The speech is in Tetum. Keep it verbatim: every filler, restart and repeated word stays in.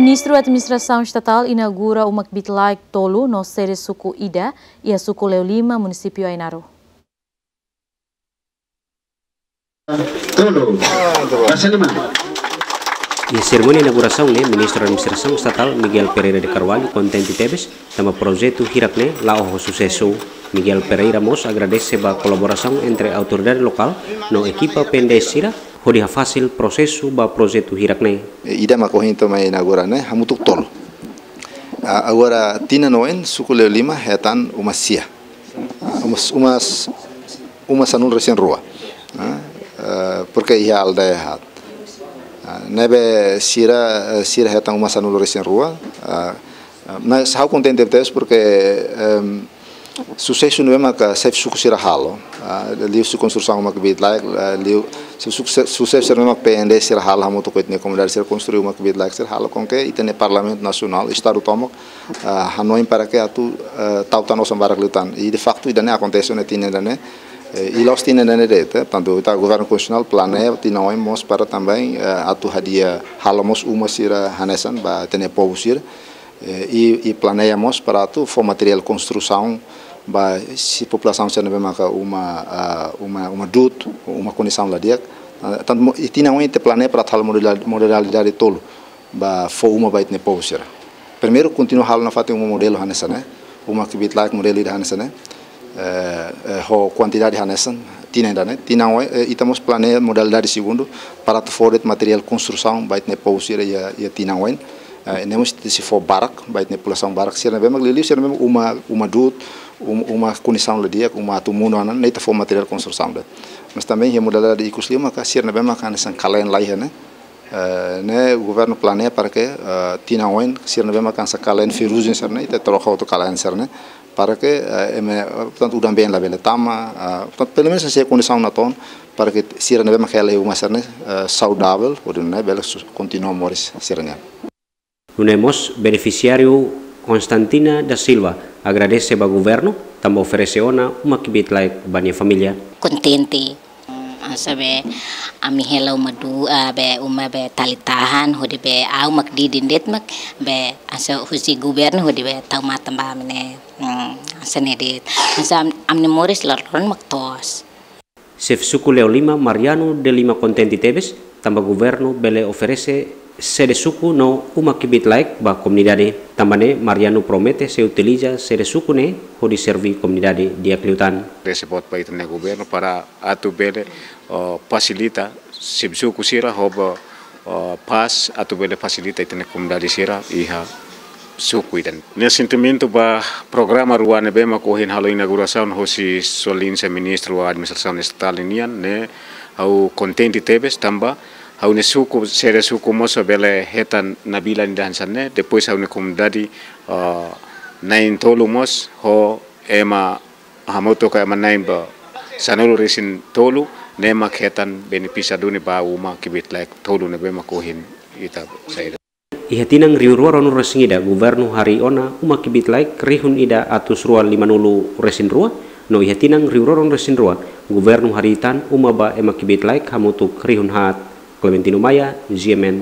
Ministru Administrasaun Estatál inaugura uma kbiit-laek tolu no sede suku ida iha suku Leolima, munisípiu Ainaro. Tolu. Bahasa lima. Iha serimónia inaugurasaun ne'e, Ministru Administrasaun Estatál Miguel Pereira de Carvalho kontente tebes tanba projetu hirak ne'e la'o ho susesu. Miguel Pereira mós agradese ba kolaborasaun entre autoridade lokál no ekipa P N D S sira hodi hafasil prosesu ba projetu hirak ne'e. Ida mak ohin to'o mai inaugura ne'e hamutuk tolu. Ah, agora tinan oin suku Leolima hetan uma sia. Ah, uma, uma, uma sanulu resin rua. Ah, eh, porke iha aldeia haat. Ah, ne'ebé sira, eh, sira hetan uma sanulu resin rua. Ah, ah, mas ha'u kontente tebes porke, em, susesu ne'ebé maka xefe suku sira halo, ah, liuhusi konstrusaun uma kbiit-laek, ah, liu, su-, su-, susesu sira ne'ebé maka P N D sira halo hamutuk ho ita-nia komunidade sira konstrui uma kbiit-laek sira halo com que ita-nia Parlamentu Nasionál, Estadu tomak, ah, hanoin para que atu, ah, tau tan osan barak liután. I de faktu ida-ne'e akontese ona tinan ida-ne'e, eh, i la'ós tinan ida-ne'e de'it, eh, tantu ita Governu Konstitusionál planeia tinan oin mós para também, eh, atu hadi'a halo mós uma sira hanesan ba ita-nia povu sira. Eh, i, i planeia mós para atu fó materiál konstrusaun ba sira populasaun sira ne'ebé maka uma, ah, uma, uma du'ut, uma kondisaun la di'ak. Ah, tantu mo-, i tinan oin ita planeia para atu halo modela-, modalidade tolu ba fó uma ba ita-nia povu sira. Primeiru, kontinua halo nafatin uma modelu hanesan ne'e, uma kbiit-laek modelu ida hanesan ne'e. Eh, eh, ho kuantidade hanesan, tinan ida-ne'e. Tinan oin, eh, ita mós planeia modalidade segundu para atu fó de'it materiál konstrusaun ba ita-nia povu sira iha, iha tinan oin. Eh, ne'e mós sei fó barak, ba ita-nia populasaun barak sira ne'ebé mak liuliu sira ne'ebé mak uma, uma du'ut, um-, uma kondisaun la di'ak, uma atu monu ona, ne'e ita fó materiál konstrusaun de'it. Mas também iha modalidade ikus liu maka sira ne'ebé maka hanesan kalen laiha ne'e. Eh, ne'e governu planeia para que, eh, tinan oin sira ne'ebé maka hanesan kalen ferrujen sira-ne'e, ita troka hotu kalen sira-ne'e, para que, eh, ema, eh, portantu udan-been labele tama, eh, portantu pelumenus sei kondisaun natoon, para que sira ne'ebé maka hela iha uma sira-ne'e, eh, saudavel, hodi nune'e bele su-, kontinua moris sira-nian. Nune'e mós benefisiáriu Constantina da Silva agradese ba governu tanba oferese ona uma kbiit-laek ba nia família. Kontente. Mm, hanesan be ami hela uma du'ut, ah, be uma be tali-tahan, hodi be ha'u mak didin de'it mak be hanesan husi governu hodi be tau matan ba ami ne'e. Mm, hanesan ne'e de'it. Hanesan am-, ami-nia moris loron-loron mak toos. Xefe suku Leolima Mariano de Lima kontente tebes tanba governu bele oferese sede suku no uma kbiit-laek ba komunidade. Tanba ne'e Mariano promete sei utiliza sede suku ne'e hodi serví komunidade di'ak liután. Oferese boot ba ita-nia governu para atu bele, oh, fasilita xefe suku sira ho ba, oh, pás atu bele fasilita ita-nia komunidade sira iha suku ida-ne'e. Nia sentimentu ba programa rua ne'ebé mak ohin halo inaugurasaun hosi Sua Exelénsia Ministru Administrasaun Estatál nian ne'e, ha'u kontente tebes tanba ha'u-nia suku, sede suku mós bele hetan nabilan ida hanesan ne'e, depois ha'u-nia komunidade, ah, na'in-tolu mós ho ema hamutuk ho ema na'in ba sanulu resin tolu ne'e mak hetan benefísiu duni ba uma kbiit-laek tolu ne'ebé mak ohin ita saida. Iha tinan rihun rua ruanulu resin ida, governu harii ona uma kbiit-laek rihun ida atus rua limanulu resin rua, no iha tinan rihun rua ruanulu resin rua, governu harii tan uma ba ema kbiit-laek hamutuk rihun haat. Clementino Maia, G M N,